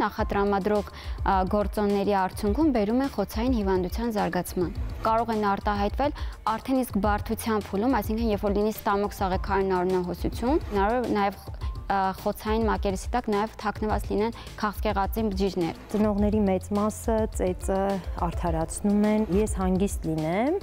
Նախատրամադրող գործոնների արդյունքում բերում են խոցային հիվանդության զարգացման։ Կարող են արտահայտվել արդեն իսկ բարդության փուլում, այսինքն երբ որ լինի ստամոքս աղեքարային արյունահոսություն, նաև խոցային մակերեսի տակ նաև թաքնված լինեն քաղցկեղածի բջիջներ։ Ծնողների մեծ մասը ծեծը արդարացնում են, ես հանգիստ լինեմ,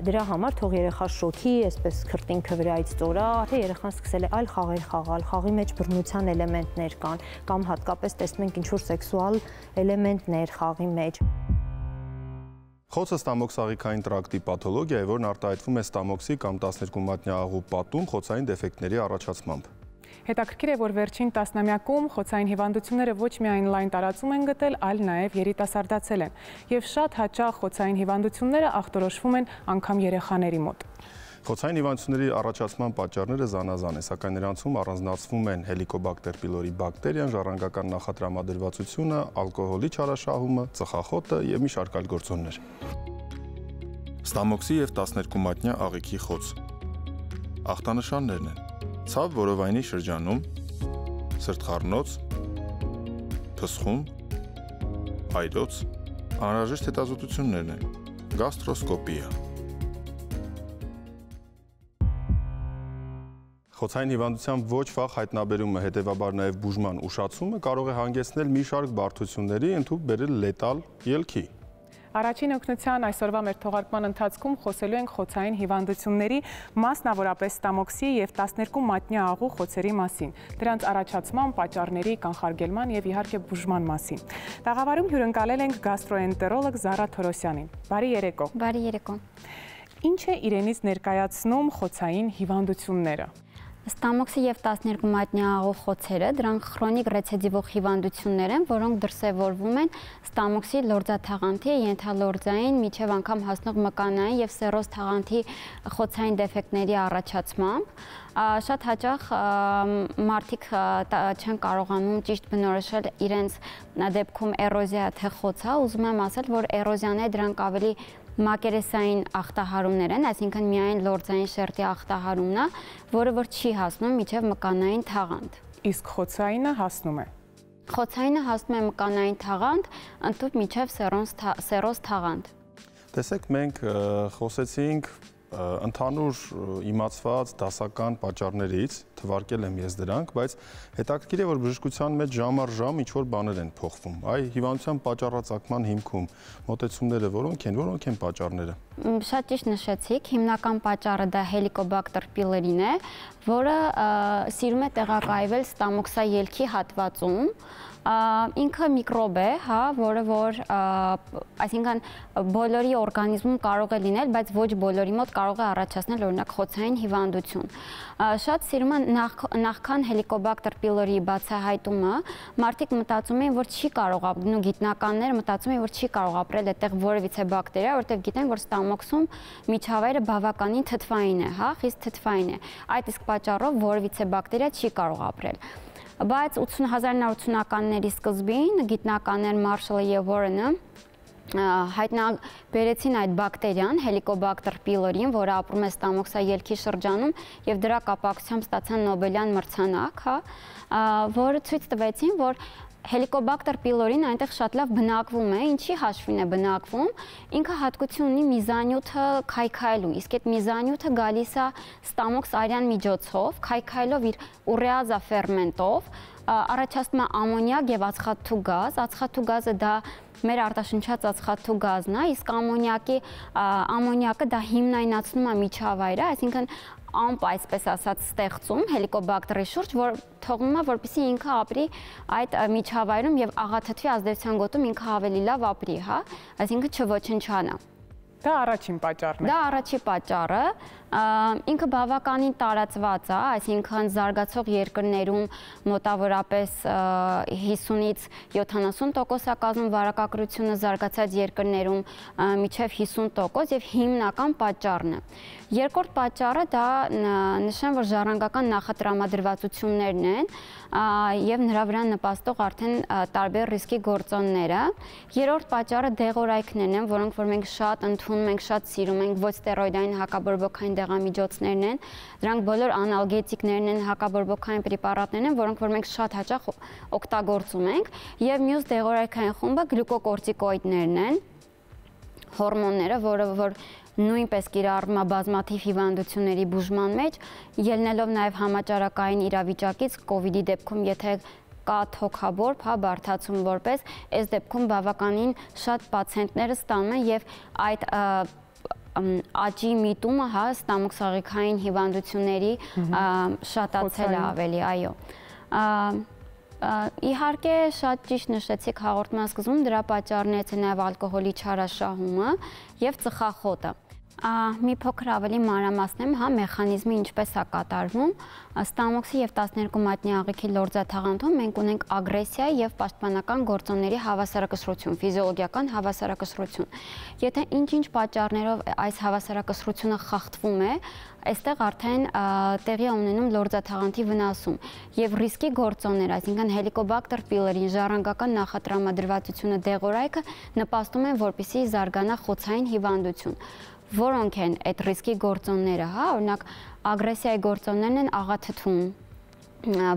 դրա համար թող երեխա շոքի, այսպես քրտինքը վրայից ծորա, թե երեխան սկսել է այլ խաղեր խաղալ, խաղի մեջ բռնության էլեմենտներ կան, կամ հատկապես տեսնում ենք ինչ-որ սեքսուալ էլեմենտներ խաղի մեջ։ Խոցը ստամոքսաղիքային տրակտի պաթոլոգիա է, որն արտահայտվում է ստամոքսի կամ 12 մատնյա աղու պատում խոցային դեֆեկտների առաջացմամբ։ Հետաքրքիր է, որ վերջին տասնամյակում խոցային հիվանդությունները ոչ միայն լայն տարածում են գտել, այլ նաև երիտասարդացել են։ Եվ շատ հաճախ խոցային հիվանդությունները ախտորոշվում են անգամ երեխաների մոտ։ Խոցային հիվանդությունների առաջացման պատճառները զանազան են, սակայն նրանցում առանձնացվում են հելիկոբակտեր պիլորի բակտերիան, ժառանգական նախատրամադրվածությունը, ալկոհոլի չարաշահումը, ծխախոտը և մի շարք այլ գործոններ։ Ստամոքսի և 12 մատնյա աղիքի խոց։ Ախտանշաններն են. ցավ որովայնի շրջանում, սրտխառնոց, փսխում, այրոց, անհրաժեշտ հետազոտություններն են, գաստրոսկոպիա։ Խոցային հիվանդության ոչ վաղ հայտնաբերումը, հետևաբար նաև բուժման ուշացումը կարող է հանգեցնել մի շարք բարդությունների, ընդհուպ բերել լետալ ելքի։ Առաջին օգնության այսօրվա մեր թողարկման ընթացքում խոսելու ենք խոցային հիվանդությունների, մասնավորապես ստամոքսի և 12 մատնյա աղու խոցերի մասին, դրանց առաջացման, պատճառների, կանխարգելման և իհարկե բուժման մասին։ Տաղավարում հյուրընկալել ենք գաստրոենտերոլոգ Զարա Թորոսյանին։ Բարի երեկո։ Բարի երեկո։ Ինչ է իրենից ներկայացնում խոցային հիվանդությունները։ Ստամոքսի և 12 մատնյա աղու խոցերը դրանք քրոնիկ ռեցիդիվող հիվանդություններ են, որոնք դրսևորվում են ստամոքսի լորձաթաղանթի, ենթալորձային, մինչև անգամ հասնող մկանային և սերոզ թաղանթի խոցային դեֆեկտների առաջացմամբ։ Շատ հաճախ մարդիկ չեն կարողանում ճիշտ բնորոշել իրենց դեպքում էրոզիա թե խոցա, ուզում եմ ասել, որ էրոզիաները դրանք ավելի մակերեսային ախտահարումներ են, այսինքն միայն լորձային շերտի ախտահարումն է, որը որ չի հասնում մինչև մկանային թաղանթ։ Իսկ խոցայինը հասնում է։ Խոցայինը հասնում է մկանային թաղանթ, ընդհուպ մինչև սերոզ թաղանթ։ Տեսեք, մենք խոսեցինք ընդհանուր իմացված դասական պատճառներից, թվարկել եմ ես դրանք, բայց հետաքրքիր է, որ բժշկության մեջ ժամ առ ժամ ինչ-որ բաներ են փոխվում։ Այ հիվանդության պատճառածագման հիմքում մոտեցումները որոնք են պատճառները։ Շատ ճիշտ նշեցիք, հիմնական պատճառը դա հելիկոբակտեր պիլորին է, որը սիրում է տեղակայվել ստամոքսաելքի հատվածում։ Ինքը միկրոբ է, որը որ, այսինքն բոլորի օրգանիզմում կարող է լինել, բայց ոչ բոլորի մոտ կարող է առաջացնել օրինակ խոցային հիվանդություն։ Շատ սիրում են նախքան հելիկոբակտեր պիլորի բացահայտումը, մարդիկ մտածում են, որ չի կարող ապրել, գիտնականները մտածում են, որ չի կարող ապրել այդտեղ որևիցե բակտերիա, որտեղ գիտեն, որ ստամոքսում միջավայրը բավականին թթվային է, խիստ թթվային է։ Այդ իսկ պատճառով որևիցե բակտերիա չի կարող ապրել։ Բայց 1980-ականների սկզբին գիտնականներ Մարշալը և Վորենը հայտնաբերեցին այդ բակտերիան, հելիկոբակտեր պիլորին, որը ապրում է ստամոքսաելքի շրջանում և դրա կապակցությամբ ստացան Նոբելյան մրցանակ, որը ցույց տվեցին, որ հելիկոբակտեր պիլորին այնտեղ շատ լավ բնակվում է, ինչի հաշվին է բնակվում, ինքը հատկություն ունի միզանյութը քայքայելու, իսկ այդ միզանյութը գալիս է ստամոքս արյան միջոցով, քայքայելով իր ուրեազա ֆերմենտով, առաջացնում է ամոնիակ և ածխաթթու գազ, ածխաթթու գազը դա մեր արտաշնչած ածխաթթու գազն է, իսկ ամոնիակը դա հիմնայնացնում է միջավայրը, այսինքն ամպ, այսպես ասած, ստեղծում հելիկոբակտերի շուրջ, որ թողնում է, որպեսզի ինքը ապրի այդ միջավայրում և աղաթթվի ազդեցության գոտում ինքը ավելի լավ ապրի, այսինքն չոչնչանա։ Դա առաջին պատճառն է։ Դա առաջի պատճառը, ինքը բավականին տարածված է, այսինքն զարգացող երկրներում մոտավորապես 50-ից 70% կազմում վարակագրությունը, զարգացած երկրներում մինչև 50% և հիմնական պատճառն է։ Երկրորդ պատճառը դա նշեմ, որ ժառանգական նախատրամադրվածություններն են և նրա վրա նպաստող արդեն տարբեր ռիսկի գործոնները։ Երրորդ պատճառը դեղորայքներն են, որոնք որ մենք շատ ընդունում ենք, շատ սիրում ենք, ոչ ստերոիդային հակաբորբոքային դեղամիջոցներն են, դրանք բոլոր անալգետիկներն են, հակաբորբոքային պրեպարատներն են, որոնք որ մենք շատ հաճախ օգտագործում ենք, եւ մյուս դեղորայքային խումբը գլյուկոկորտիկոիդներն են, հորմոնները, որը որ նույնպես կիրառվում է բազմաթիվ հիվանդությունների բուժման մեջ, ելնելով նաև համաճարակային իրավիճակից COVID-ի դեպքում, եթե կա թոքաբորբ, հա, բարդացում որպես, այս դեպքում բավականին շատ պացիենտները ստանում են եւ այդ աճի միտումը, հա, ստամոքսաղիքային հիվանդությունների շատացել է ավելի, այո։ Իհարկե շատ ճիշտ նշեցիք հաղորդման սկզբում, դրա պատճառներից է նաև ալկոհոլի չարաշահումը եւ ծխախոտը։ Մի փոքր ավելի մանրամասնեմ, հա, մեխանիզմը ինչպես է կատարվում։ Ստամոքսի եւ 12 մատնի աղիքի լորձաթաղանթում մենք ունենք ագրեսիա եւ պաշտպանական գործոնների հավասարակշռություն, ֆիզիոլոգիական հավասարակշռություն։ Եթե ինչ-ինչ պատճառներով այս հավասարակշռությունը խախտվում է, այստեղ արդեն տեղի է ունենում լորձաթաղանթի վնասում եւ ռիսկի գործոններ, այսինքն Helicobacter pylori ժառանգական նախատրամադրվածությունը դեղորայքը նպաստում են, որպեսզի զարգանա խոցային հիվանդություն։ Որոնք են այդ ռիսկի գործոնները, հա, օրինակ ագրեսիայի գործոններն են աղաթթում,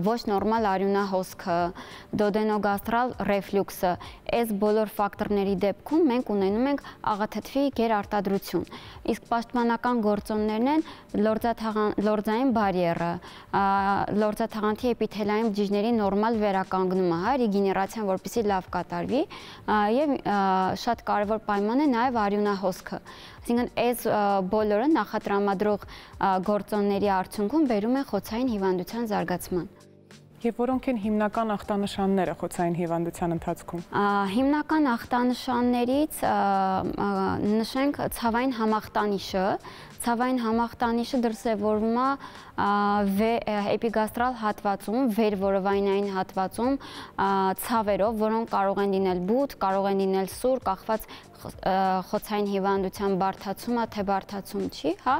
ոչ նորմալ արյունահոսքը, դոդենոգաստրալ ռեֆլյուքսը, այս բոլոր ֆակտորների դեպքում մենք ունենում ենք աղաթթվի գերարտադրություն։ Իսկ պաշտպանական գործոններն են լորձային բարիերը, լորձաթաղանթի էպիթելային բջիջների նորմալ վերականգնումը, հա, ռեգեներացիան, որպեսզի լավ կատարվի, եւ շատ կարևոր պայման է նաեւ արյունահոսքը։ Այսինքն այս բոլորը նախատրամադրող գործոնների արդյունքում բերում են խոցային հիվանդության զարգացման։ Եվ որոնք են հիմնական ախտանշանները խոցային հիվանդության ընթացքում։ Հիմնական ախտանշաններից նշենք ցավային համախտանիշը։ Ցավային համախտանիշը դրսևորվում է էպիգաստրալ հատվածում, վերորովայնային հատվածում ցավերով, որոնք կարող են լինել բութ, կարող են լինել սուր, կախված խոցային հիվանդության բարդացումը, թե բարդացում չի, հա,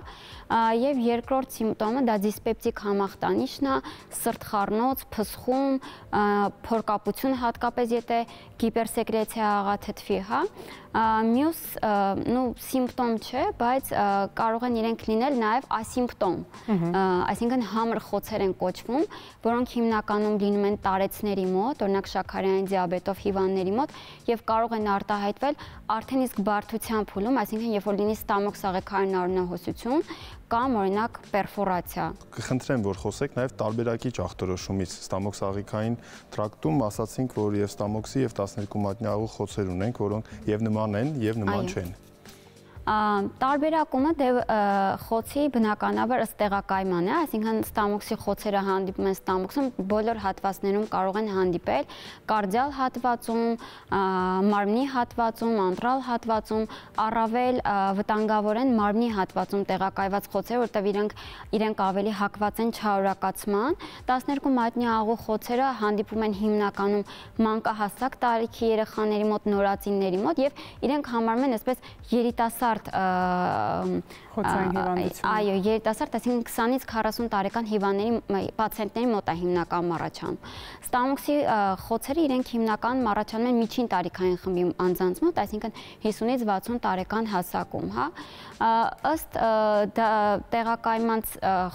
եւ երկրորդ սիմպտոմը դա դիսպեպտիկ համախտանիշն է, սրտխառնոց, փսխում, փորկապություն, հատկապես եթե հիպերսեկրեցիա աղաթթվի, հա, մյուս սիմպտոմ չէ, բայց կարող են իրենք լինել նաև ասիմպտոմ, այսինքն համր խոցեր են կոչվում, որոնք հիմնականում լինում են տարեցների մոտ, օրինակ շաքարային դիաբետով հիվանդների մոտ եւ կարող են արտահայտվել արդեն իսկ բարդության փուլում, այսինքն երբ որ լինի ստամոքսաղիքային արյունահոսություն կամ օրինակ պերֆորացիա։ Կխնդրեմ, որ խոսեք նաև տարբերակիչ ախտորոշումից ստամոքսաղիքային տրակտում, ասացինք, որ եւ ստամոքսի եւ 12 մատնի աղու խոցեր ունենք, որոնք եւ նման են եւ նման չեն։ Տարբերակումը խոցի բնականաբար ըստ տեղակայման է, այսինքն ստամոքսի խոցերը հանդիպում են ստամոքսում, բոլոր հատվածներում կարող են հանդիպել, կարդիալ հատվածում, մարմնի հատվածում, անտրալ հատվածում, առավել վտանգավոր են մարմնի հատվածում տեղակայված խոցերը, որտեղ իրենք ավելի հակված են չարորակացման։ 12 մատնի աղու խոցերը հանդիպում են հիմնականում մանկահասակ տարիքի երեխաների մոտ, նորածինների մոտ եւ իրենք համարվում են այսպես երիտասարդ խոցային հիվանդություն։ Այո, երիտասարդ, այսինքն 20-ից 40 տարեկան հիվանդների պացիենտների մոտ է հիմնական առաջանում։ Ստամոքսի խոցերը իրենք հիմնականում առաջանում են միջին տարիքային խմբի անձանց մոտ, այսինքն 50-ից 60 տարեկան հասակում, հա։ Ըստ տեղակայման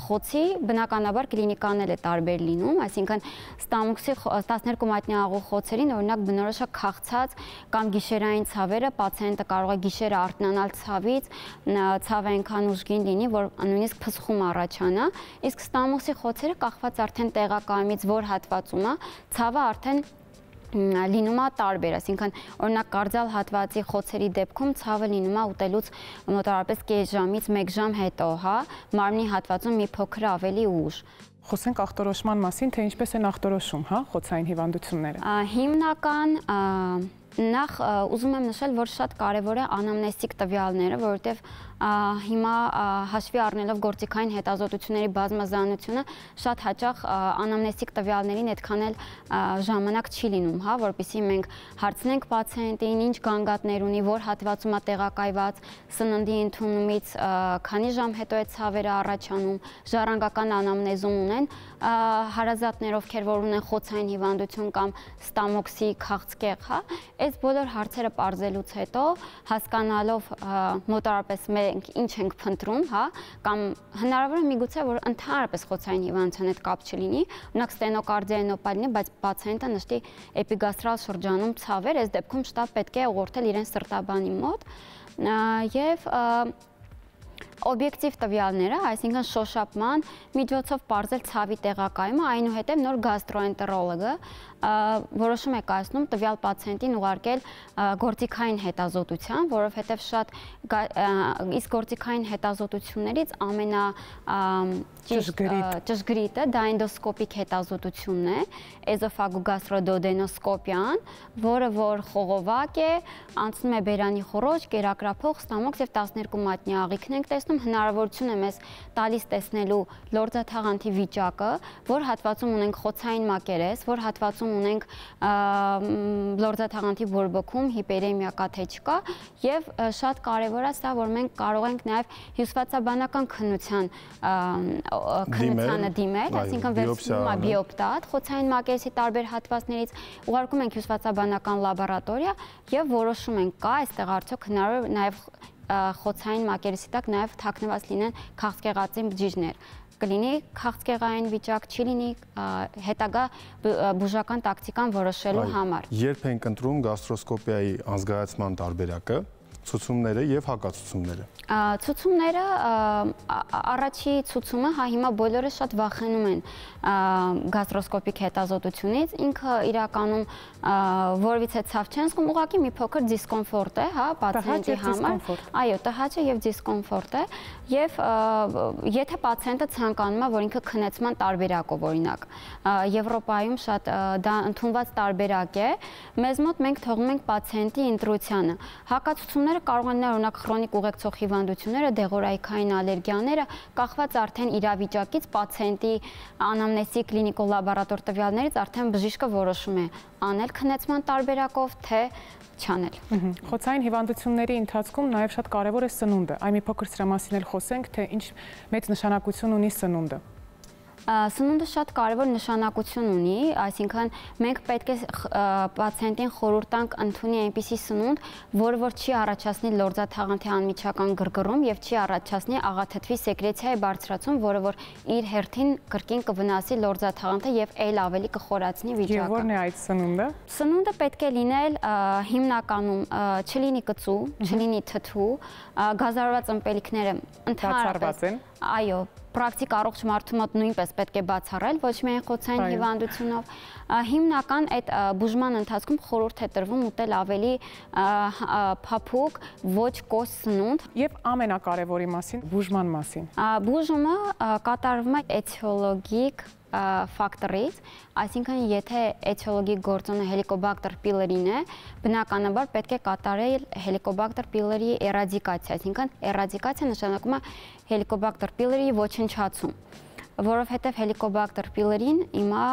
խոցի բնականաբար կլինիկանն էլ է տարբեր լինում, այսինքն ստամոքսի 12 մատնի աղու խոցերին օրինակ բնորոշ է քաղցած կամ գիշերային ցավերը, պացիենտը կարող է գիշերը արթնանալ ցավից, ցավը այնքան ուժգին լինի, որ նույնիսկ փսխում առաջանա, իսկ ստամոքսի խոցերը կախված արդեն տեղակայմից որ հատվածում է, ցավը արդեն լինում է տարբեր, այսինքն օրինակ կարդիալ հատվածի խոցերի դեպքում ցավը լինում է ուտելուց մոտավորապես կես ժամից 1 ժամ հետո, հա, մարմնի հատվածում մի փոքր ավելի ուշ։ Խոսենք ախտորոշման մասին, թե ինչպես են ախտորոշում, հա, խոցային հիվանդությունները։ Հիմնական նախ ուզում եմ նշել, որ շատ կարևոր է անամնեստիկ տվյալները, որովհետև հիմա հաշվի առնելով գործիքային հետազոտությունների բազմազանությունը շատ հաճախ անամնեստիկ տվյալներին այդքան էլ ժամանակ չի լինում, հա, որպեսզի մենք հարցնենք պացիենտին, ինչ գանգատներ ունի, որ հատվածում է տեղակայված, սննդի ընդունումից քանի ժամ հետո է ցավերը առաջանում, ժառանգական անամնեզում ունեն, հարազատներ, ովքեր որ ունեն խոցային հիվանդություն կամ ստամոքսի քաղցկեղ, հա, Այս բոլոր հարցերը պարզելուց հետո հասկանալով մոտարապես մենք ինչ ենք փնտրում, հա, կամ հնարավոր է միգուցե որ ընդհանրապես խոցային հիվանդության հետ կապ չլինի, օրինակ ստենոկարդիայնոպա լինի, բայց պացիենտը նշտի էպիգաստրալ շրջանում ցավեր, այս դեպքում շտապ պետք է ուղղորդել իրեն սրտաբանի մոտ եւ օբյեկտիվ տվյալները, այսինքն շոշափման միջոցով պարզել ցավի տեղակայումը, այնուհետև նոր գաստրոենտերոլոգը որոշում է կայացնում տվյալ պացիենտին ուղարկել գործիքային հետազոտության, որովհետև շատ իսկ գործիքային հետազոտություններից ճշգրիտը դա էնդոսկոպիկ հետազոտությունն է, էզոֆագոգաստրոդոդենոսկոպիան, որը որ խողովակ է, անցնում է բերանի խոռոչ, կերակրափող, ստամոքս եւ 12 մատնյա աղիքն ենք տեսնում, հնարավորություն է մեզ տալիս տեսնելու լորձաթաղանթի վիճակը, որ հատվածում ունենք խոցային մակերես, որ հատվածում ունենք լորձաթաղանթի բորբոքում հիպերեմիա կա թե չկա եւ շատ կարեւոր է սա, որ մենք կարող ենք նաեւ հյուսվածաբանական քննությանը դիմել, այսինքն բիոպտատ, խոցային մակերեսի տարբեր հատվածներից ուղարկում ենք հյուսվածաբանական լաբորատորիա եւ որոշում ենք կա այստեղ արդյոք հնարավոր նաեւ խոցային մակերեսի տակ նաեւ թաքնված լինեն քաղցկեղածին բջիջներ կլինի քաղցկեղային վիճակ, չի լինի հետագա բուժական տակտիկան որոշելու համար։ Երբ ենք ընտրում գաստրոսկոպիայի անզգայացման տարբերակը, ցուցումները եւ հակացուցումները։ Ցուցումները առաջի ցուցումը, հա հիմա բոլորը շատ վախենում են գաստրոսկոպիկ հետազոտությունից, ինքը իրականում որևիցե ցավ չեն զգում, ուղղակի մի փոքր դիսկոմֆորտ է, հա, պացիենտի համար։ Այո, տհաճ է եւ դիսկոմֆորտ է, եւ եթե պացիենտը ցանկանում է, որ ինքը քնեցման տարբերակով, օրինակ, Եվրոպայում շատ դա ընդունված տարբերակ է, մեզ մոտ մենք թողնում ենք պացիենտի ինտրուցիանը։ Հակացուցումները կարող են լինել օրինակ քրոնիկ ուղեկցող հիվանդությունները, դեղորայքային ալերգիաները, կախված արդեն իրավիճակից, պացիենտի անամնեզի կլինիկո-լաբորատոր տվյալներից արդեն բժիշկը որոշում է անել քնեցման տարբերակով, թե չանել։ Խոցային հիվանդությունների ընթացքում նաև շատ կարևոր է սնունդը։ Այ մի փոքր սրա մասին էլ խոսենք, թե ինչ մեծ նշանակություն ունի սնունդը։ Սնունդը շատ կարևոր նշանակություն ունի, այսինքն մենք պետք է պացիենտին խորհուրդ տանք ընդունի այնպիսի սնունդ, որը որ չի առաջացնի լորձաթաղանթի անմիջական գրգռում եւ չի առաջացնի աղաթթվի սեկրեցիայի բարձրացում, որը որ իր հերթին կրկին կվնասի լորձաթաղանթը եւ այլ ավելի կխորացնի վիճակը։ Եվ ո՞րն է այդ սնունդը։ Սնունդը պետք է լինել հիմնականում չլինի կծու, չլինի թթու, գազարված ըմպելիքները ընդհանրապես այո, պրակտիկ առողջ մարդու մոտ նույնպես պետք է բացառել, ոչ միայն խոցային հիվանդությունով։ Հիմնական այդ բուժման ընթացքում խորհուրդ է տրվում ուտել ավելի փափուկ, ոչ կոս սնունդ։ Եվ ամենակարևորի մասին, բուժման մասին։ Բուժումը կատարվում է էթիոլոգիկ ֆակտորից, այսինքն եթե էթիոլոգիկ գործոնը Helicobacter pylori-ն է, բնականաբար պետք է կատարել Helicobacter pylori էրադիկացիա, այսինքն էրադիկացիա նշանակում է Helicobacter pylori ոչնչացում, որովհետև Helicobacter pylori-ն հիմա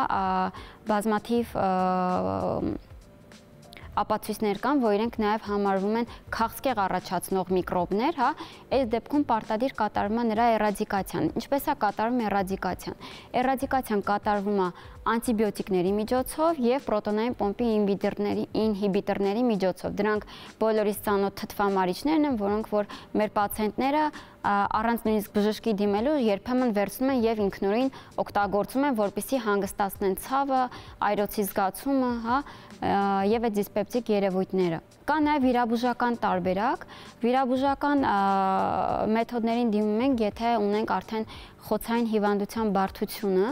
բազմաթիվ ապացույցներ կան, որ իրենք նաև համարվում են քաղցկեղ առաջացնող միկրոբներ, հա, այս դեպքում պարտադիր կատարվում է նրա էրադիկացիան։ Ինչպես է կատարվում էրադիկացիան։ Էրադիկացիան կատարվում է անտիբիոտիկների միջոցով եւ պրոտոնային պոմպի ինհիբիտորների միջոցով։ Դրանք բոլորիս ծանոթ թթվամարիչներն են, որոնք որ մեր պացիենտները առանց նույնիսկ բժշկի դիմելու երբեմն վերցնում են եւ ինքնուրույն օգտագործում են, որպեսզի հանգստացնեն ցավը, այրոցի զգացումը, հա, եւ այդ դիսպեպտիկ երևույթները։ Կա նաեւ վիրաբուժական տարբերակ, վիրաբուժական մեթոդներին դիմում ենք, եթե ունենք արդեն խոցային հիվանդության բարդությունը,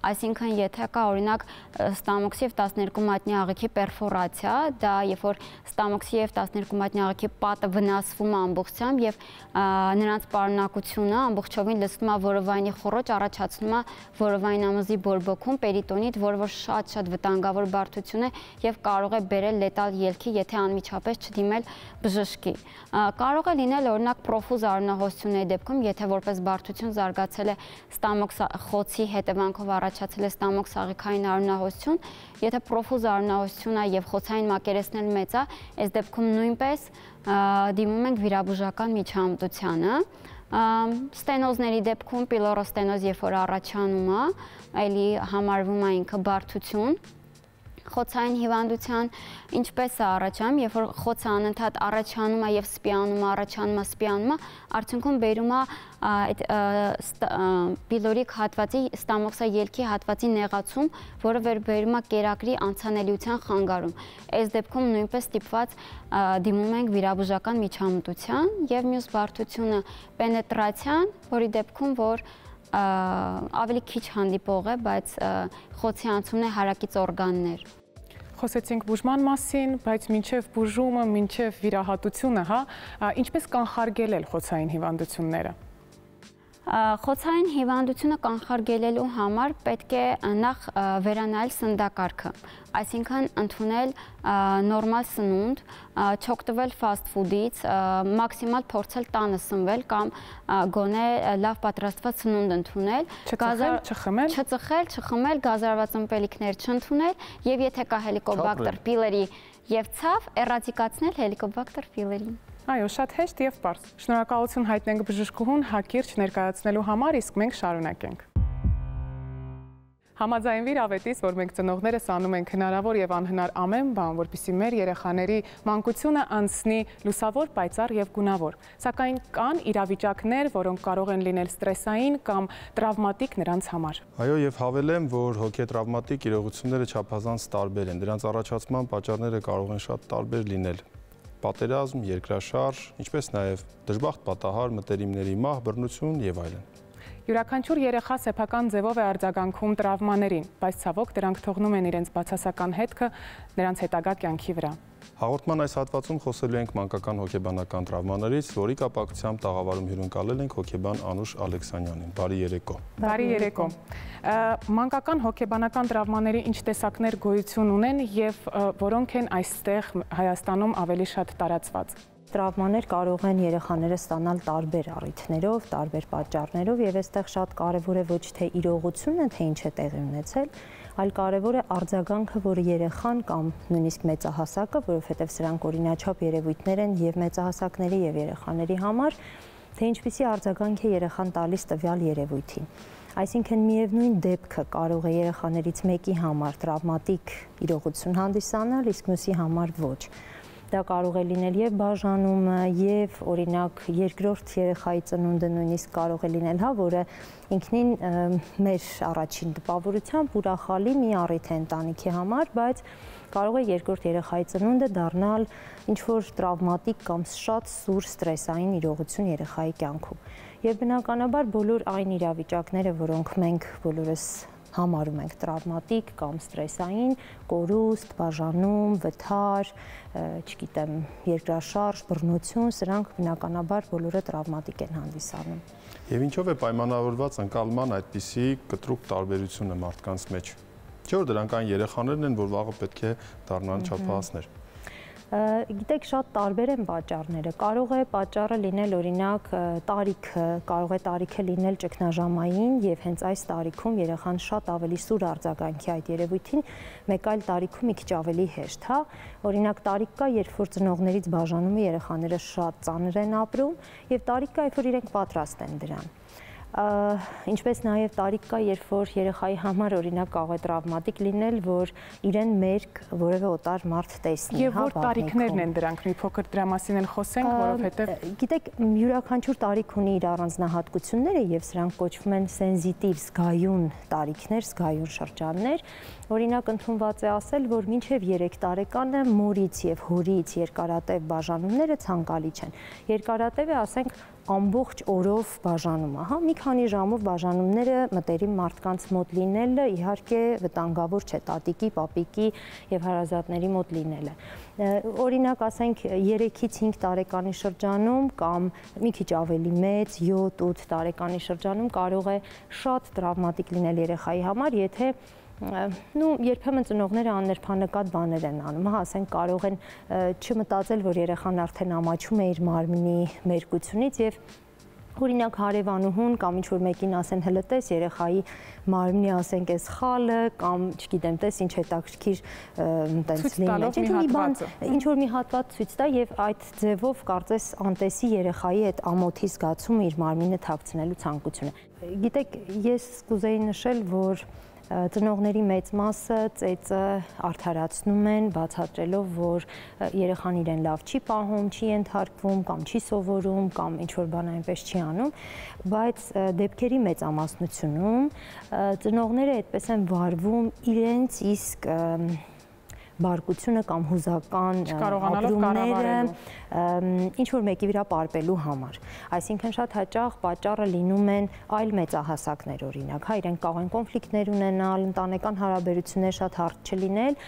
այսինքն եթե կա օրինակ ստամոքսի եւ 12 մատնյա աղիքի պերֆորացիա, դա երբ որ ստամոքսի եւ 12 մատնյա աղիքի պատը վնասվում է ամբողջությամբ եւ նրանց պարունակությունը ամբողջովին լցնում է որովայնի խոռոչ, առաջացնում է որովային ամզի բորբոքում պերիտոնիտ, որը որ շատ վտանգավոր բարդություն է եւ կարող է բերել լետալ ելքի, եթե անմիջապես չդիմել բժշկի։ Կարող է լինել օրինակ պրոֆուզ արյունահոսությունների դեպքում, եթե որպես բարդություն զարգացել է ստամոքս խոցի հետևանքով առաջացել է ստամոքս աղիքային արյունահոսություն, եթե պրոֆուզ արյունահոսություն է եւ խոցային մակերեսն էլ մեծ է, այս դեպքում նույնպես դիմում ենք վիրաբուժական միջամտությանը։ Ստենոզների դեպքում պիլորոստենոզ երբ որ առաջանում է, էլի համարվում է ինքը բարդություն, խոցային հիվանդության ինչպես է առաջանում, երբ որ խոցը անընդհատ առաջանում է եւ սպիանում է, արդյունքում բերում է այդ պիլորիկ հատվածի ստամոքսաելքի հատվածի նեղացում, որը վերբերում է կերակրի անցանելիության խանգարում։ Այս դեպքում նույնպես ստիպված դիմում ենք վիրաբուժական միջամտության եւ մյուս բարդությունը պենետրացիան, որի դեպքում որ ավելի քիչ հանդիպող է, բայց խոցի անցումն է հարակից օրգաններ։ Խոսեցինք բուժման մասին, բայց մինչև բուժումը, մինչև վիրահատությունը, ինչպես կանխարգելել խոցային հիվանդությունները։ Խոցային հիվանդությունը կանխարգելելու համար պետք է նախ վերանայել սննդակարգը, այսինքն ընդունել նորմալ սնունդ, չօգտվել fast food-ից, մաքսիմալ փորձել տանը սնվել կամ գոնե լավ պատրաստված սնունդ ընդունել, չխմել, գազարված ըմպելիքներ չընդունել եւ եթե կա հելիկոբակտեր պիլերի եւ ցավ, էրադիկացնել հելիկոբակտեր պիլերին։ Այո, շատ հեշտ եւ պարզ։ Շնորհակալություն հայտնենք բժշկուհուն հակիրճ ներկայացնելու համար, իսկ մենք շարունակենք։ Համաձայնվիր ավետիս, որ մենք ծնողներս անում ենք հնարավոր եւ անհնար ամեն բան, որպեսզի մեր երեխաների մանկությունը անցնի լուսավոր, պայծառ եւ գունավոր։ Սակայն կան իրավիճակներ, որոնք կարող են լինել ստրեսային կամ տրավմատիկ նրանց համար։ Այո, եւ հավելեմ, որ հոգետրավմատիկ իրողությունները չափազանց տարբեր են։ Դրանց առաջացման պատճառները կարող են շատ տարբեր լինել։ Պատերազմ, երկրաշարժ, ինչպես նաև դժբախտ պատահար, մտերիմների մահ, բռնություն եւ այլն։ Յուրաքանչյուր երեխա սեփական ձևով է արձագանքում տրավմաներին, բայց ցավոք դրանք թողնում են իրենց բացասական հետքը նրանց հետագա կյանքի վրա։ Հաղորդման այս հատվածում խոսելու ենք մանկական հոգեբանական տրավմաներից, որի կապակցությամբ տաղավարում հյուրընկալել ենք հոգեբան Անուշ Ալեքսանյանին։ Բարի երեկո։ Բարի երեկո։ Մանկական հոգեբանական տրավմաների ինչ տեսակներ գոյություն ունեն եւ որոնք են այստեղ Հայաստանում ավելի շատ տարածված։ Տրավմաներ կարող են երեխաները ստանալ տարբեր առիթներով, տարբեր պատճառներով եւ այստեղ շատ կարեւոր է ոչ թե իրողությունը, թե ինչ է տեղի ունեցել, այլ կարևոր է արձագանքը, որը երեխան կամ նույնիսկ մեծահասակը, որովհետեւ սրանք օրինաչափ երևույթներ են եւ մեծահասակների եւ երեխաների համար, թե ինչպիսի արձագանք է երեխան տալիս տվյալ երևույթին։ Այսինքն միևնույն դեպքը կարող է երեխաներից մեկի համար տրավմատիկ իրողություն հանդիսանալ, իսկ մյուսի համար ոչ։ Դա կարող է լինել եւ բաժանումը, եւ օրինակ երկրորդ երեխայի ծնունդը նույնիսկ կարող է լինել, որը ինքնին մեր առաջին տպավորությամբ ուրախալի մի առիթ է ընտանիքի համար, բայց կարող է երկրորդ երեխայի ծնունդը դառնալ ինչ-որ տրավմատիկ կամ շատ սուր ստրեսային իրողություն երեխայի կյանքում։ Եվ բնականաբար բոլոր այն իրավիճակները, որոնք մենք բոլորս համարում ենք տրավմատիկ կամ ստրեսային, կորուստ, բաժանում, վթար, չգիտեմ, երկրաշարժ, բռնություն, սրանք բնականաբար բոլորը տրավմատիկ են հանդիսանում։ Եվ ինչով է պայմանավորված ընկալման այդպիսի կտրուկ տարբերությունը մարդկանց մեջ։ Չէ՞ որ դրանք այն երեխաներն են, որ վաղը պետք է դառնան չափահասներ։ Գիտեք, շատ տարբեր են պատճառները։ Կարող է պատճառը լինել օրինակ տարիքը, կարող է տարիքը լինել ճգնաժամային եւ հենց այս տարիքում երեխան շատ ավելի սուր արձագանքի այդ երևույթին, մեկ այլ տարիքում մի քիչ ավելի հեշտ, Օրինակ տարիք կա, երբ որ ծնողներից բաժանումը երեխաները շատ ծանր են ապրում եւ տարիք կա, երբ որ իրենք պատրաստ են դրան։ Ինչպես նաև տարիք կա, երբ որ երեխայի համար օրինակ կարող է տրավմատիկ լինել, որ իրեն մերկ որևէ օտար մարդ տեսնի, Եվ որ տարիքներն են դրանք, մի փոքր դրա մասին էլ խոսենք, որովհետև գիտեք, յուրաքանչյուր տարիք ունի իր առանձնահատկությունները եւ սրանք կոչվում են սենզիտիվ զգայուն տարիքներ, զգայուն շրջաններ։ Օրինակ ընդունված է ասել, որ մինչև 3 տարեկանը մորից եւ հորից երկարատև բաժանումները ցանկալի չեն։ Երկարատևը, ասենք, ամբողջ օրով բաժանումը, մի քանի ժամով բաժանումները մտերիմ մարդկանց մոտ լինելը իհարկե վտանգավոր չէ, տատիկի, պապիկի եւ հարազատների մոտ լինելը։ Օրինակ, ասենք 3-ից 5 տարեկանի շրջանում կամ մի քիչ ավելի մեծ 7-8 տարեկանի շրջանում կարող է շատ տրավմատիկ լինել երեխայի համար, եթե երբեմն ծնողները աններփանեկատ բաներ են անում, ասենք կարող են չմտածել, որ երեխան արդեն ամաչում է իր մարմնի մերկությունից եւ օրինակ հարևանուհուն կամ ինչ-որ մեկին ասեն հələ տես երեխայի մարմնի ասենք այս խալը կամ չգիտեմ տես ինչ հետաքրքիր տենց լինի, ինչ-որ մի հատված ցույց տա եւ այդ ձևով կարծես անտեսի երեխայի այդ ամոթի զգացումը իր մարմինը թաքցնելու ցանկությունը։ Գիտեք, ես կուզեի նշել, որ Ծնողների մեծ մասը ծեծը արդարացնում են, բացատրելով, որ երեխան իրեն լավ չի պահում, չի ենթարկվում կամ չի սովորում կամ ինչ-որ բան այնպես չի անում, բայց դեպքերի մեծամասնությունում ծնողները այդպես են վարվում իրենց իսկ բարկությունը կամ հուզական ապրումները ինչ-որ մեկի վրա պարպելու համար։ Այսինքն շատ հաճախ պատճառը լինում են այլ մեծահասակներ, օրինակ, իրենք կարող են կոնֆլիկտներ ունենալ, ընտանեկան հարաբերություններ շատ հարթ չլինել,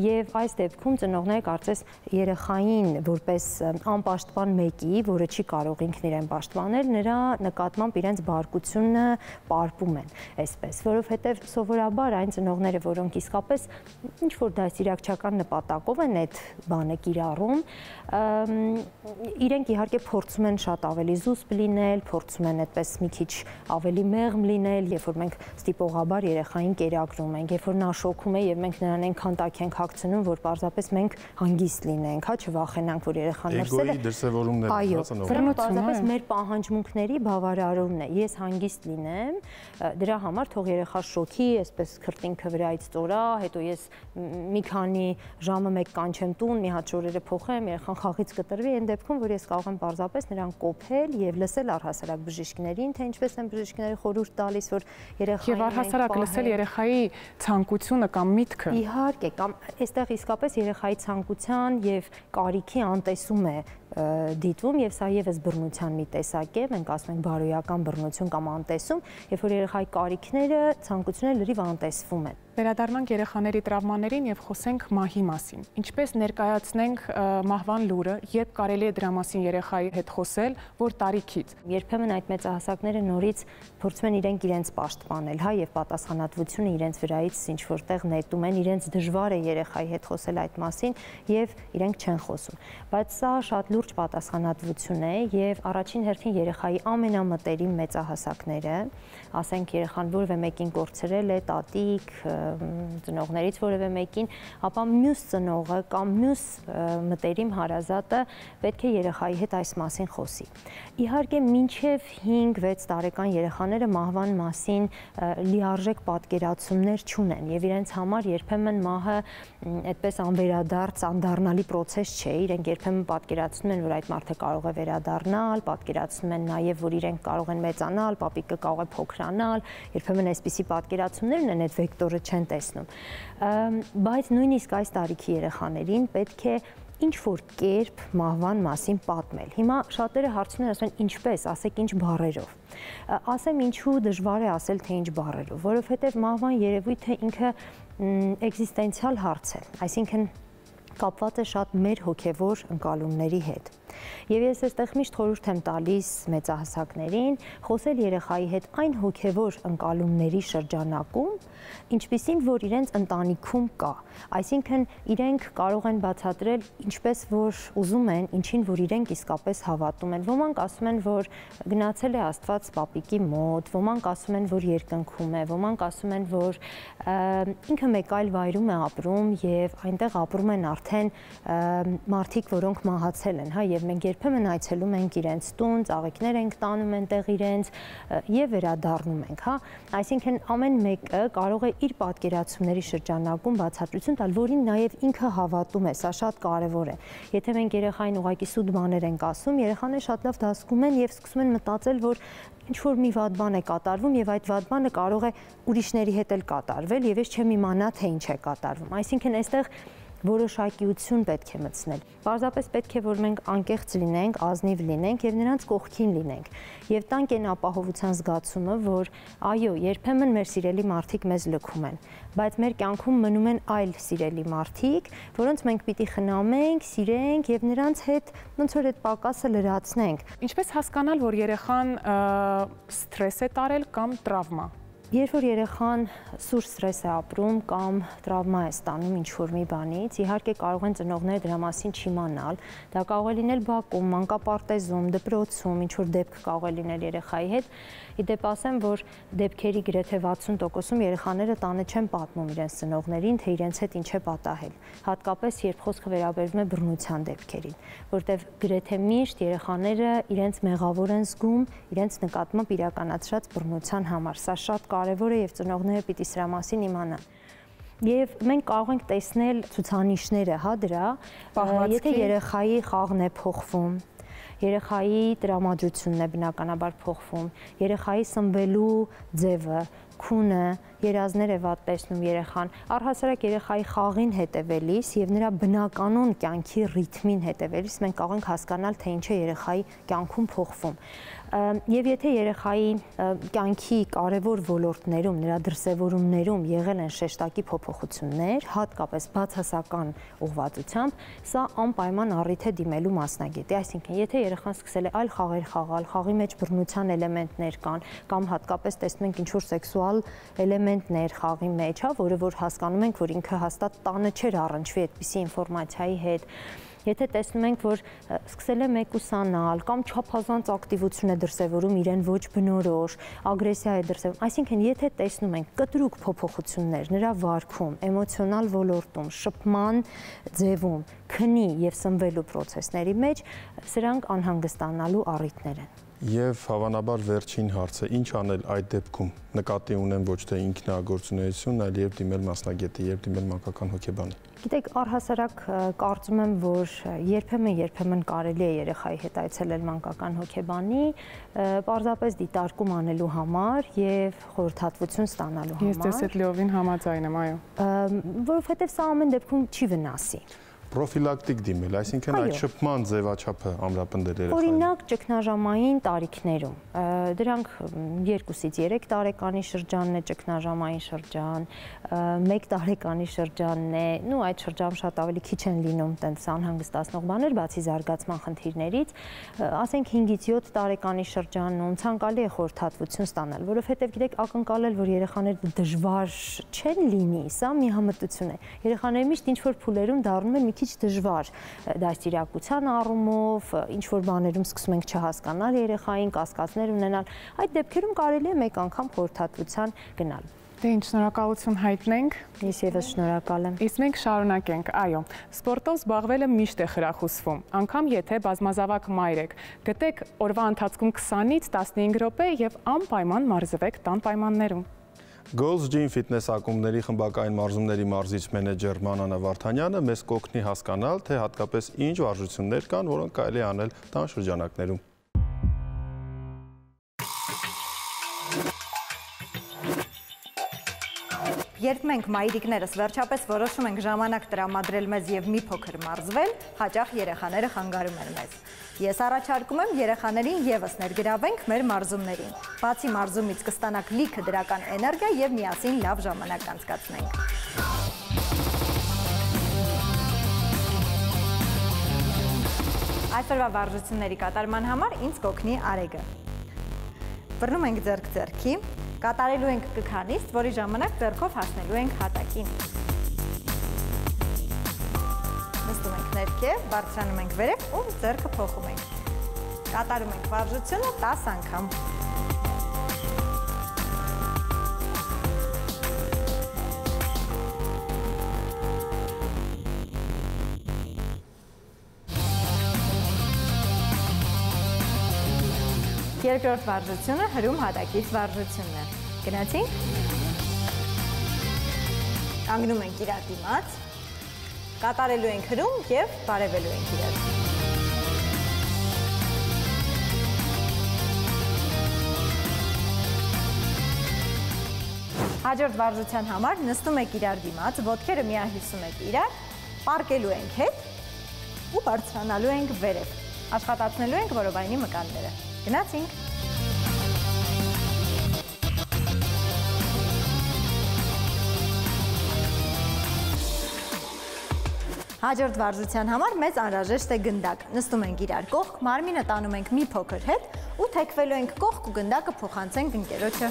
եւ այս դեպքում ծնողները կարծես երեխային որպես անպաշտպան մեկի, որը չի կարող ինքն իրեն պաշտպանել, նրա նկատմամբ իրենց բարկությունը պարպում են, այսպես, որովհետեւ սովորաբար այն ծնողները, որոնք իսկապես ինչ-որ դաստիարակչական նպատակով են այդ բանը կիրառում, իրենք իհարկե փորձում են շատ ավելի զուսպ լինել, փորձում են այդպես մի քիչ ավելի մեղմ լինել, երբ որ մենք ստիպողաբար երեխային կերակրում ենք, երբ որ նա շոկում է եւ մենք նրան այնքան տակ ենք հագցնում, որ պարզապես մենք հանգիստ լինենք, չվախենանք, որ երեխան մրսել է։ Էգոյի դրսևորումներ, այո, պարզապես մեր պահանջմունքների բավարարումն է։ Ես հանգիստ լինեմ, դրա համար թող երեխա շոկի, այսպես քրտինքը վրայից ծորա, հետո ես մի քանի ժամը մեկ կանչեմ տուն, մի հատ շորերը փոխեմ, երեխան խաղից կտրվի, այն դեպքում, որ ես կարող եմ պարզապես նրան կոփել եւ լսել առհասարակ բժիշկներին, թե ինչպես են բժիշկները խորհուրդ տալիս, որ երեխային եւ առհասարակ լսել երեխայի ցանկությունը կամ միտքը։ Իհարկե, կամ այստեղ իսկապես երեխայի ցանկության եւ կարիքի անտեսում է դիտվում եւ սա եւս բռնության մի տեսակ է, մենք ասում ենք բարոյական բռնություն կամ անտեսում, երբ որ երեխայի կարիքները, ցանկությունները լրիվ անտեսվում են։ Վերադառնանք երեխաների տրավմաներին եւ խոսենք մահի մասին։ Ինչպես ներկայացնենք մահվան լուրը, երբ կարելի է դրա մասին երեխայի հետ խոսել, որ տարիքից։ Երբեմն այդ մեծահասակները նորից փորձում են իրենց պաշտպանել, եւ պատասխանատվությունը իրենց վրայից ինչ որտեղ նետում են, իրենց դժվար է երեխայի հետ խոսել այդ մասին եւ իրենք չեն խոսում։ Բայց սա շատ լուրջ պատասխանատվություն է եւ առաջին հերթին երեխայի ամենամտերիմ մեծահասակները, ասենք երեխան որևէ մեկին կորցրել է, տատիկ, ծնողներից որևէ մեկին, ապա մյուս ծնողը կամ մյուս մտերիմ հարազատը պետք է երեխայի հետ այս մասին խոսի։ Իհարկե մինչև 5-6 տարեկան երեխաները մահվան մասին լիարժեք պատկերացումներ չունեն եւ իրենց համար երբեմն մահը այդպես անվերադարձ, անդառնալի process չէ, իրենք երբեմն պատկերացնում են, որ այդ մարդը կարող է վերադառնալ, պատկերացնում են նաեւ, որ իրենք կարող են մեծանալ, պապիկը կարող է փոքրանալ, երբեմն այսպիսի պատկերացումներ ունեն, այդ վեկտորը չեն տեսնում, բայց նույնիսկ այս տարիքի երեխաներին պետք է ինչ-որ կերպ մահվան մասին պատմել։ Հիմա շատերը հարցնում են, ասում են ինչպես, ասեք ինչ բառերով։ Ասեմ ինչու դժվար է ասել, թե ինչ բառերով, որովհետև մահվան երևույթը ինքը էքզիստենցիալ հարց է, այսինքն կապված է շատ մեր հոգևոր ընկալումների հետ։ Եվ ես այստեղ միշտ խորհուրդ եմ տալիս մեծահասակներին խոսել երեխայի հետ այն հոգևոր ընկալումների շրջանակում, ինչպիսին որ իրենց ընտանիքում կա, այսինքն իրենք կարող են բացատրել ինչպես որ ուզում են, ինչին որ իրենք իսկապես հավատում են։ Ոմանք ասում են, որ գնացել է Աստված պապիկի մոտ, ոմանք ասում են, որ երկնքում է, ոմանք ասում են, որ ինքը մեկ այլ վայրում է ապրում եւ այնտեղ ապրում են արդեն մարդիկ, որոնք մահացել են, եւ մենք երբեմն այցելում ենք իրենց տուն, ծաղիկներ ենք տանում այնտեղ իրենց եւ վերադառնում ենք, այսինքն ամեն մեկը կարող է իր պատկերացումների շրջանակում բացատրություն տալ, որին նաեւ ինքը հավատում է, սա շատ կարեւոր է։ Եթե մենք երեխային ուղղակի սուտ բաներ ենք ասում, երեխաները շատ լավ դասկում են եւ սկսում են մտածել, որ ինչ-որ մի վատ բան է կատարվում եւ այդ վատ բանը կարող է ուրիշների հետ էլ կատարվել եւ ես չեմ իմանա թե ինչ է կատարվում։ Այսինքն այստեղ որոշակիություն պետք է մտցնել։ Պարզապես պետք է, որ մենք անկեղծ լինենք, ազնիվ լինենք եւ նրանց կողքին լինենք եւ տանք այն ապահովության զգացումը, որ այո, երբեմն մեր սիրելի մարդիկ մեզ լքում են, բայց մեր կյանքում մնում են այլ սիրելի մարդիկ, որոնց մենք պիտի խնամենք, սիրենք եւ նրանց հետ ոնց որ այդ պակասը լրացնենք։ Ինչպես հասկանալ, որ երեխան սթրես է տարել կամ տրավմա։ Երբ որ երեխան սուր ստրես է ապրում կամ տրավմա է ստանում ինչ-որ մի բանից, իհարկե կարող են ծնողները դրա մասին չիմանալ, դա կարող է լինել բակում, մանկապարտեզում, դպրոցում, ինչ-որ դեպք կարող է լինել երեխայի հետ։ Իդեպ ասեմ, որ դեպքերի գրեթե 60%-ում երեխաները տանը չեն պատմում իրենց ծնողներին, թե իրենց հետ ինչ է պատահել, հատկապես երբ խոսքը վերաբերվում է բռնության դեպքերին, որտեղ գրեթե միշտ երեխաները իրենց մեղավոր են զգում իրենց նկատմամբ իրականացրած բռնության համար։ Սա շատ կարևոր է եւ ծնողները պիտի սրա մասին իմանան։ Եվ մենք կարող ենք տեսնել ցուցանիշները, հա, դրա, եթե երեխայի խաղն է փոխվում, երեխայի տրամադրությունն է բնականաբար փոխվում, երեխայի սնվելու ձևը, քունը, երազներ է վատ տեսնում երեխան, առհասարակ երեխայի խաղին հետևելիս եւ նրա բնականon կյանքի ռիթմին հետևելիս մենք կարող ենք հասկանալ, թե ինչ է երեխայի կյանքում փոխվում։ Եվ եթե երեխայի կյանքի կարևոր ոլորտներում, նրա դրսևորումներում եղել են շեշտակի փոփոխություններ, հատկապես բացասական ուղղվածությամբ, սա անպայման առիթ է դիմելու մասնագետի, այսինքն եթե երեխան սկսել է այլ խաղեր խաղալ, խաղի մեջ բռնության էլեմենտներ կան, կամ հատկապես տեսնում ենք ինչ-որ սեքսուալ էլեմենտներ խաղի մեջ, հա, որը որ հասկանում ենք, որ ինքը հաստատ տանը չէր առնչվի այդպիսի ինֆորմացիայի հետ։ Եթե տեսնում ենք, որ սկսել է մեկուսանալ կամ չափազանց ակտիվություն է դրսևորում իրեն ոչ բնորոշ, ագրեսիա է դրսևորում, այսինքն եթե տեսնում ենք կտրուկ փոփոխություններ նրա վարքում, էմոցիոնալ ոլորտում, շփման ձևում, քնի եւ սնվելու process-ների մեջ, սրանք անհանգստանալու առիթներ են։ Եվ հավանաբար վերջին հարցը, ինչ անել այդ դեպքում, նկատի ունեմ ոչ թե ինքնագործունեություն, այլ եւ դիմել մասնագետի, եւ դիմել մանկական հոգեբանի։ Գիտեք, առհասարակ կարծում եմ, որ երբեմն կարելի է երեխայի հետ այցելել մանկական հոգեբանի, պարզապես դիտարկում անելու համար եւ խորհրդատվություն ստանալու համար։ Ես ձեզ հետ լիովին համաձայն եմ, այո։ Որովհետեւ սա ամեն դեպքում չի վնասի։ Պրոֆիլակտիկ դիմել, այսինքն այդ շփման ձևաչափը ամրապնդել երեխային։ Օրինակ ճգնաժամային տարիքներում, դրանք 2-ից 3 տարեկանի շրջանն է ճգնաժամային շրջան, 1 տարեկանի շրջանն է, նու այդ շրջան շատ ավելի քիչ են լինում տենց անհանգստացնող բաներ, բացի զարգացման խնդիրներից, ասենք 5-ից 7 տարեկանի շրջանում ցանկալի է խորհրդատվություն ստանալ, որովհետև գիտեք, ակնկալել, որ երեխաները դժվար չեն լինի, սա միամտություն է։ Երեխաները միշտ ինչ-որ փուլերում դառնում են մի քիչ դժվար դաստիարակության առումով, ինչ որ բաներում սկսում ենք չհասկանալ երեխային, կասկածներ ունենալ, այդ դեպքերում կարելի է մեկ անգամ խորհրդատվության գնալ։ Դե ինչ, շնորհակալություն հայտնենք։ Ես եւս շնորհակալ եմ։ Իսկ մենք շարունակենք, այո, սպորտով զբաղվելը միշտ է խրախուսվում, անգամ եթե բազմազավակ մայր եք, գտեք օրվա ընթացքում 20-ից 15 րոպե եւ անպայման մարզվեք տան պայմաններում։ Gold's Gym Fitness ակումբների խմբակային մարզումների մարզիչ մենեջեր Մանանա Վարդանյանը մեզ կօգնի հասկանալ, թե հատկապես ինչ վարժություններ կան, որոնք կարելի է անել տան շրջանակներում։ Երբ մենք մայրիկներս վերջապես որոշում ենք ժամանակ տրամադրել մեզ եւ մի փոքր մարզվել, հաճախ երեխաները խանգարում են մեզ։ Ես առաջարկում եմ երեխաներին եւս ներգրավենք մեր մարզումներին։ Բացի մարզումից կստանաք լիքը դրական էներգիա եւ միասին լավ ժամանակ անցկացնենք։ Այսօրվա վարժությունների կատարման համար ինձ կօգնի Արեգը։ Բռնում ենք ձեռք-ձեռքի, կատարելու ենք կքանիստ, որի ժամանակ ձեռքով հասնելու ենք հատակին։ Նստում ենք ներքև, բարձրանում ենք վերև ու ձեռքը փոխում ենք։ Կատարում ենք վարժությունը 10 անգամ։ Երկրորդ վարժությունը հրում հատակից վարժությունն է։ Գնացինք։ Կանգնում ենք իրար դիմաց, կատարելու ենք հրում և բարևելու ենք իրար։ Հաջորդ վարժության համար նստում եք իրար դիմաց, ոտքերը միահյուսում եք իրար, պառկելու ենք հետ ու բարձրանալու ենք վերև։ Աշխատացնելու ենք որովայնի մկանները։ Գնացինք։ Հաջորդ վարժության համար մեզ անհրաժեշտ է գնդակ։ Նստում ենք իրար կողք, մարմինը տանում ենք մի փոքր հետ ու թեքվելու ենք կողք ու գնդակը փոխանցենք ընկերոջը։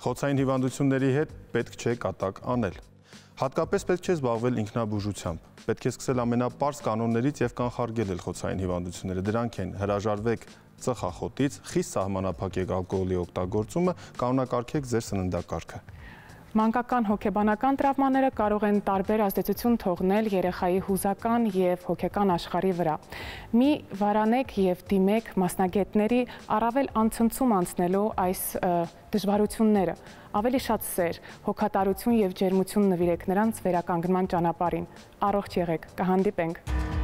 Խոցային հիվանդությունների հետ պետք չէ կատակ անել։ Հատկապես պետք չէ զբաղվել ինքնաբուժությամբ։ Պետք է սկսել ամենապարզ կանոններից եւ կանխարգել խոցային հիվանդությունները։ Դրանք են հրաժարվեք ծխախոտից, խիստ սահմանափակեք ալկոհոլի օգտագործումը, կանոնակարգեք ձեր սննդակարգը։ Մանկական հոգեբանական տրավմաները կարող են տարբեր ազդեցություն թողնել երեխայի հուզական և հոգեկան աշխարհի վրա։ Մի վարանեք և դիմեք մասնագետների առավել անցնցում անցնելու այս դժվարությունները, ավելի շատ սեր, հոգատարություն և ջերմություն նվիրեք նրանց վերականգնման ճանապարհին։ Առողջ եղեք, կհանդիպենք։